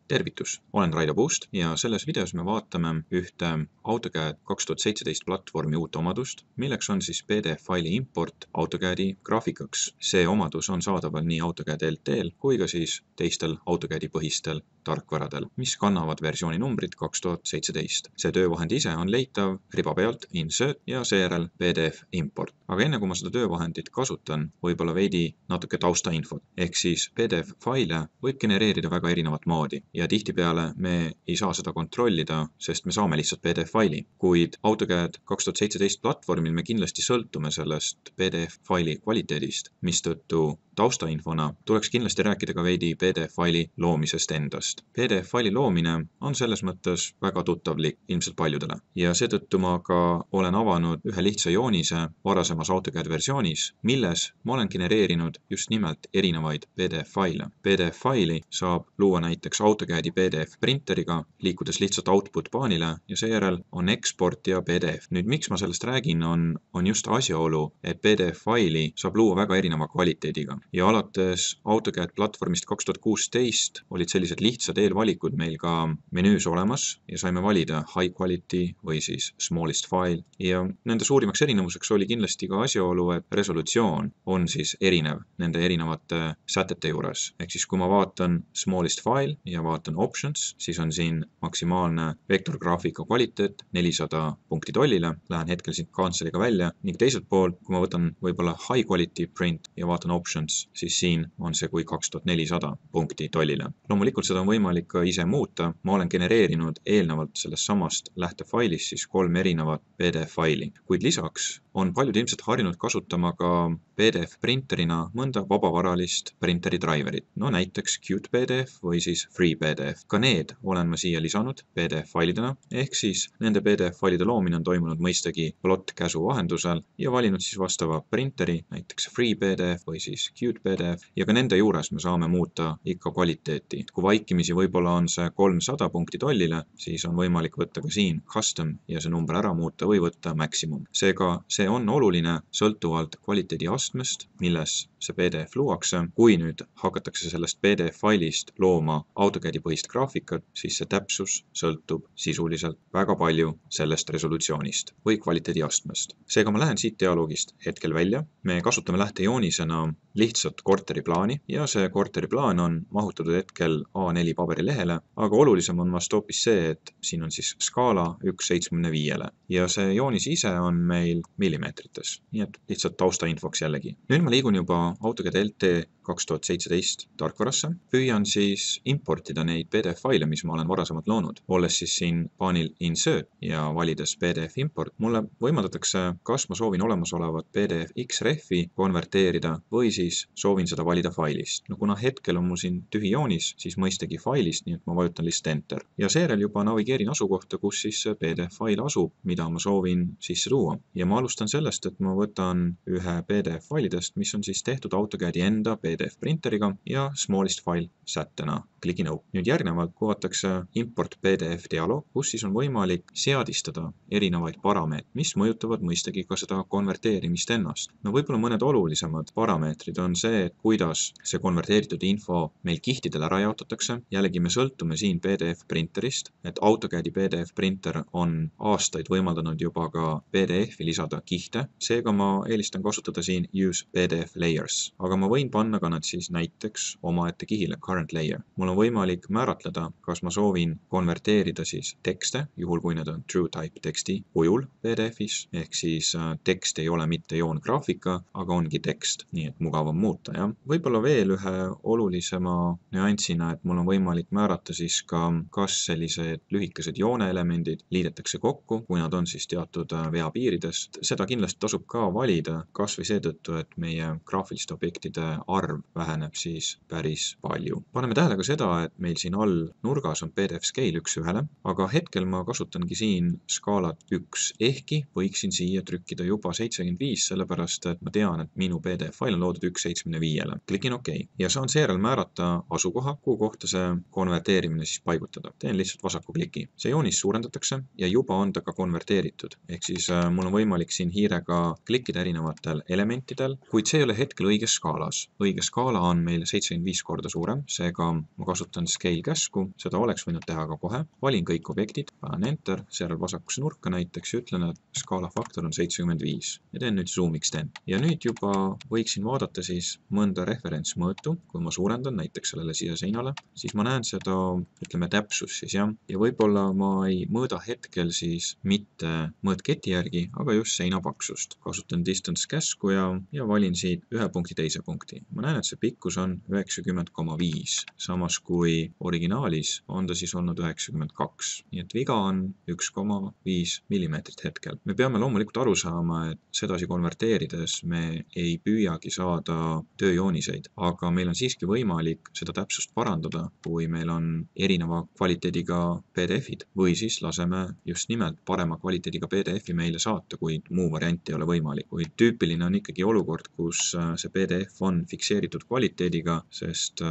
Tervitus, olen Raido Puust ja selles videos me vaatame ühte AutoCAD 2017 platvormi uut omadust, milleks on siis PDF-faili import AutoCADi graafikaks. See omadus on saadaval nii AutoCAD LT-l kui ka siis teistel AutoCADi põhistel tarkvaradel, mis kannavad versiooni numbrit 2017. See töövahend ise on leitav riba pealt Insert ja seejärel PDF import. Aga enne kui ma seda töövahendit kasutan, võib-olla veidi natuke taustainfot. Ehk siis PDF-faile võib genereerida väga erinevat moodi ja tihtipeale me ei saa seda kontrollida, sest me saame lihtsalt PDF-faili. Kuid AutoCAD 2017 platvormil me kindlasti sõltume sellest PDF-faili kvaliteedist, mistõttu taustainfona tuleks kindlasti rääkida ka veidi PDF-faili loomisest endast. PDF-faili loomine on selles mõttes väga tuttavlik ilmselt paljudele ja seetõttu ma ka olen avanud ühe lihtsa joonise varasemas AutoCAD versioonis, milles ma olen genereerinud just nimelt erinevaid PDF-faile. PDF-faili saab luua näiteks AutoCADi PDF printeriga, liikudes lihtsalt output paanile ja seejärel on export ja PDF. Nüüd miks ma sellest räägin on just asjaolu, et PDF-faili saab luua väga erineva kvaliteediga. Ja alates AutoCAD platvormist 2016 olid sellised lihtsad eelvalikud meil ka menüüs olemas ja saime valida high quality või siis smallest file. Ja nende suurimaks erinevuseks oli kindlasti ka asjaolu, et resolutsioon on siis erinev nende erinevate sätete juures. Ehk siis kui ma vaatan smallest file ja vaatan options, siis on siin maksimaalne vektorgraafika kvaliteet 400 punkti tollile. Lähen hetkel siit kantseliga välja ning teiselt poolt, kui ma võtan võib-olla high quality print ja vaatan options, siis siin on see kui 2400 punkti tollile. Loomulikult seda on võimalik ka ise muuta. Ma olen genereerinud eelnevalt sellest samast lähtefailist siis 3 erinevat PDF-faili, kuid lisaks on paljud ilmselt harjunud kasutama ka PDF printerina mõnda vabavaralist printeri driverit, no näiteks Qt PDF või siis Free PDF. Ka need olen ma siia lisanud PDF-failidena, ehk siis nende PDF-failide loomine on toimunud mõistagi plot käsu vahendusel ja valinud siis vastava printeri, näiteks Free PDF või siis Qt PDF ja ka nende juures me saame muuta ikka kvaliteeti. Kui vaikimisi võib-olla on see 300 punkti tollile, siis on võimalik võtta ka siin custom ja see number ära muuta või võtta maximum. Seega see on oluline sõltuvalt kvaliteedi astmest, milles see PDF luuakse. Kui nüüd hakatakse sellest PDF-failist looma AutoCADi põhist graafikat, siis see täpsus sõltub sisuliselt väga palju sellest resolutsioonist või kvaliteedi astmest. Seega ma lähen siit dialoogist hetkel välja. Me kasutame lähtejoonisena lihtsalt korteriplaani ja see korteriplaan on mahutatud hetkel A4 paberilehele, aga olulisem on vast hoopis see, et siin on siis skaala 1/75 ja see joonis ise on meil millimeetrites, nii et lihtsalt taustainfoks jällegi. Nüüd ma liigun juba AutoCAD LT 2017 tarkvarasse. Püüan siis importida neid PDF-faile, mis ma olen varasemalt loonud. Olles siis siin paanil Insert ja valides PDF import, mulle võimaldatakse, kas ma soovin olemasolevat PDF XREF-i konverteerida või siis soovin seda valida failist. No kuna hetkel on mul siin tühi joonis, siis mõistagi failist, nii et ma vajutan lihtsalt Enter. Ja seejärel juba navigeerin asukohta, kus siis see PDF-fail asub, mida ma soovin sisse tuua. Ja ma alustan sellest, et ma võtan ühe PDF-failidest, mis on siis tehtud AutoCADi enda PDF printeriga ja smallest file sättena. Klikin OK. Nüüd järgnevalt kuvatakse import PDF dialoog, kus siis on võimalik seadistada erinevaid parameetreid, mis mõjutavad mõistagi ka seda konverteerimist ennast. No võib-olla mõned olulisemad parameetrid on see, kuidas see konverteeritud info meil kihtidele ära jaotatakse. Jällegi me sõltume siin PDF printerist, et AutoCADi PDF printer on aastaid võimaldanud juba ka PDF-i lisada kihte. Seega ma eelistan kasutada siin Use PDF Layers, aga ma võin panna ka nad siis näiteks omaette kihile Current Layer. Mul on võimalik määratleda, kas ma soovin konverteerida siis tekste, juhul kui need on True Type teksti kujul PDF-is, ehk siis tekst ei ole mitte joongraafika, aga ongi tekst, nii et mugavam muuta. Ja võib-olla veel ühe olulisema nüansina, et mul on võimalik määrata siis ka, kas sellised lühikesed jooneelemendid liidetakse kokku, kui nad on siis teatud veapiiridest. Seda kindlasti tasub ka valida, kas või seetõttu, et meie graafiliste objektide arv väheneb siis päris palju. Paneme tähele ka seda, et meil siin all nurgas on PDF scale 1:1, aga hetkel ma kasutangi siin skaalat 1, ehkki võiksin siia trükkida juba 75, sellepärast et ma tean, et minu PDF-fail on loodud 1/75. Klikin OK ja saan seejärel määrata asukoha, kuhu kohta see konverteerimine siis paigutada. Teen lihtsalt vasaku kliki. See joonis suurendatakse ja juba on ta ka konverteeritud. Ehk siis mul on võimalik siin hiirega klikkida erinevatel elementidel, kuid see ei ole hetkel hetkel õiges skaalas. Õige skaala on meil 75 korda suurem, seega ma kasutan scale käsku, seda oleks võinud teha ka kohe. Valin kõik objektid, panen enter, seejärel vasakusse nurka näiteks ja ütlen, et skaala faktor on 75 ja teen nüüd zoom'iks teen. Ja nüüd juba võiksin vaadata siis mõnda referentsmõõtu, kui ma suurendan näiteks sellele siia seinale, siis ma näen seda, ütleme, täpsus siis jah, ja võib-olla ma ei mõõda hetkel siis mitte mõõtketi järgi, aga just seina paksust. Kasutan distance käsku ja valin siit ühe punkti teise punkti. Ma näen, et see pikkus on 90,5, samas kui originaalis on ta siis olnud 92. Nii et viga on 1,5 millimeetrit hetkel. Me peame loomulikult aru saama, et sedasi konverteerides me ei püüagi saada tööjooniseid, aga meil on siiski võimalik seda täpsust parandada, kui meil on erineva kvaliteediga PDF-id või siis laseme just nimelt parema kvaliteediga PDF-i meile saata, kuid muu variant ei ole võimalik. Kuid tüüpiline on ikkagi olukord, kus see PDF on fikseeritud kvaliteediga, sest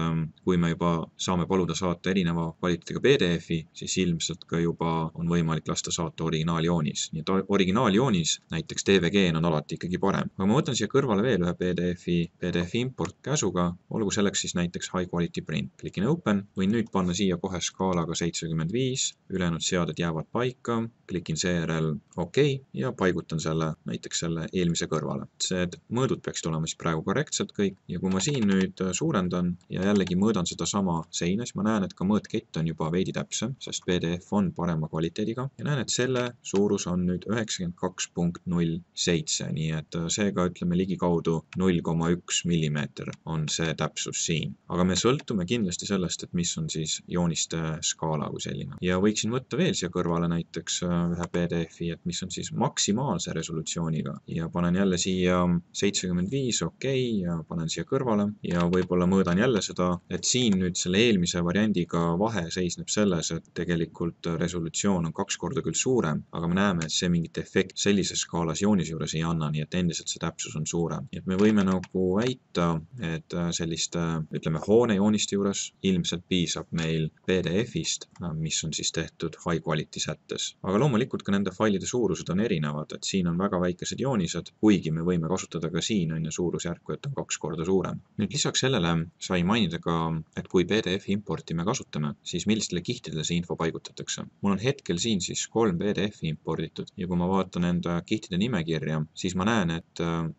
kui me juba saame paluda saata erineva kvaliteediga PDF-i, siis ilmselt ka juba on võimalik lasta saata originaaljoonis. Nii et originaaljoonis, näiteks DVG on alati ikkagi parem. Aga ma võtan siia kõrvale veel ühe PDF import käsuga, olgu selleks siis näiteks high quality print. Klikin open, võin nüüd panna siia kohe skaalaga 75, ülejäänud seaded jäävad paika, klikin seejärel OK ja paigutan näiteks selle eelmise kõrvale. See mõõdud peaksid olema siis praegu korrektselt kõik ja kui ma siin nüüd suurendan ja jällegi mõõdan seda sama seina, siis ma näen, et ka mõõtkett on juba veidi täpsem, sest PDF on parema kvaliteediga ja näen, et selle suurus on nüüd 92.07, nii et seega ütleme ligikaudu 0,1 millimeeter on see täpsus siin. Aga me sõltume kindlasti sellest, et mis on siis jooniste skaala kui selline. Ja võiksin võtta veel siia kõrvale näiteks ühe PDF-i, et mis on siis maksimaalse resolutsiooniga ja panen jälle siia 75 OK ja panen siia kõrvale ja võib-olla mõõdan jälle seda, et siin nüüd selle eelmise variandiga vahe seisneb selles, et tegelikult resolutsioon on 2 korda küll suurem, aga me näeme, et see mingit efekt sellises skaalas joonise juures ei anna, nii et endiselt see täpsus on suurem. Nii et me võime nagu väita, et selliste, ütleme, hoonejooniste juures ilmselt piisab meil PDF-ist, mis on siis tehtud high quality sättes. Aga loomulikult ka nende failide suurused on erinevad, et siin on väga väikesed joonised, kuigi me võime kasutada ka siin on suurusjärku, et on 2 korda suurem. Nüüd lisaks sellele sai mainida ka, et kui PDF importi me kasutame, siis millistele kihtidele see info paigutatakse. Mul on hetkel siin siis 3 PDF-i imporditud ja kui ma vaatan enda kihtide nimekirja, siis ma näen, et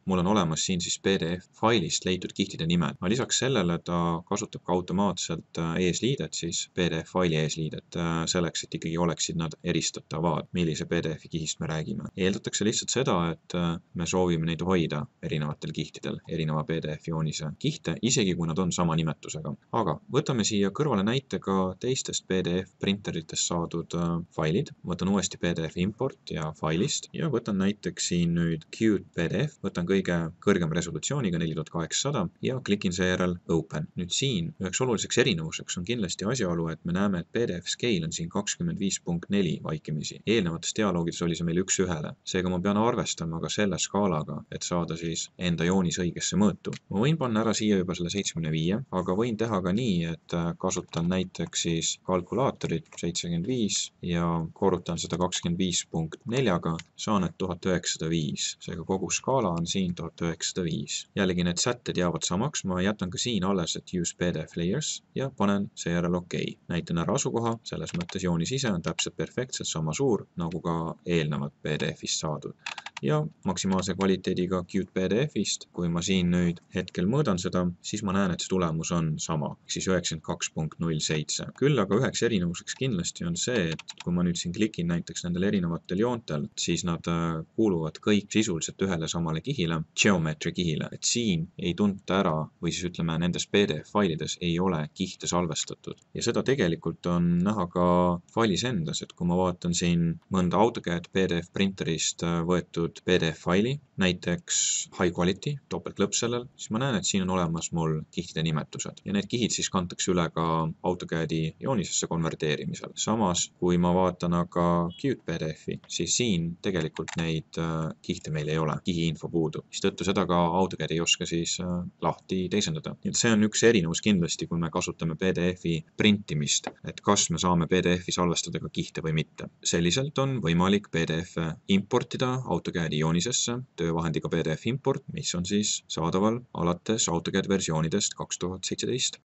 mul on olemas siin siis PDF-failist leitud kihtide nimed. Ma lisaks sellele ta kasutab ka automaatselt eesliidet, siis PDF-faili eesliidet, selleks, et ikkagi oleksid nad eristatavad, millise PDF-i kihist me räägime. Eeldatakse lihtsalt seda, et me soovime neid hoida erinevatel kihtidel, erineva PDF-joonise kihte, isegi kui nad on sama nimetusega. Aga võtame siia kõrvale näite ka teistest PDF-printeritest saadud failid. Võtan uuesti PDF import ja failist ja võtan näiteks siin nüüd Qt PDF, võtan kõige kõrgem resolutsiooniga 4800 ja klikin seejärel Open. Nüüd siin üheks oluliseks erinevuseks on kindlasti asjaolu, et me näeme, et PDF scale on siin 25.4 vaikimisi. Eelnevates dialoogides oli see meil 1:1. Seega ma pean arvestama ka selle skaalaga, et saada siis enda joonis õigesse mõõtu. Ma võin panna ära siia juba selle 75, aga võin teha ka nii, et kasutan näiteks siis kalkulaatorit 75 ja korrutan seda 25.4-ga, saan et 1905. Seega kogu skaala on siin 1905. Jällegi need sätted jäävad samaks, ma jätan ka siin alles, et use PDF layers ja panen seejärel OK. Näitan ära asukoha, selles mõttes joonis ise on täpselt perfektselt sama suur, nagu ka eelnevad PDF-ist saadud. Ja maksimaalse kvaliteediga Qt PDF-ist, kui ma siin nüüd hetkel mõõdan seda, siis ma näen, et see tulemus on sama, siis 92.07. Küll aga üheks erinevuseks kindlasti on see, et kui ma nüüd siin klikin näiteks nendel erinevatel joontel, siis nad kuuluvad kõik sisuliselt ühele samale kihile, geometry kihile, et siin ei tunta ära või siis ütleme, nendes PDF-failides ei ole kihte salvestatud. Ja seda tegelikult on näha ka failis endas, et kui ma vaatan siin mõnda AutoCAD PDF printerist võetud PDF-faili, näiteks high quality, topeltlõpp sellel, siis ma näen, et siin on olemas mul kihtide nimetused ja need kihid siis kantakse üle ka AutoCAD-i joonisesse konverteerimisel. Samas, kui ma vaatan aga Qt PDF-i, siis siin tegelikult neid kihte meil ei ole, kihiinfo puudub. Mistõttu seda ka AutoCAD ei oska siis lahti teisendada. Nii et see on üks erinevus kindlasti, kui me kasutame PDF-i printimist, et kas me saame PDF-i salvestada ka kihte või mitte. Selliselt on võimalik PDF-e importida AutoCAD AutoCAD-i joonisesse töövahendiga PDF import, mis on siis saadaval alates AutoCAD versioonidest 2017.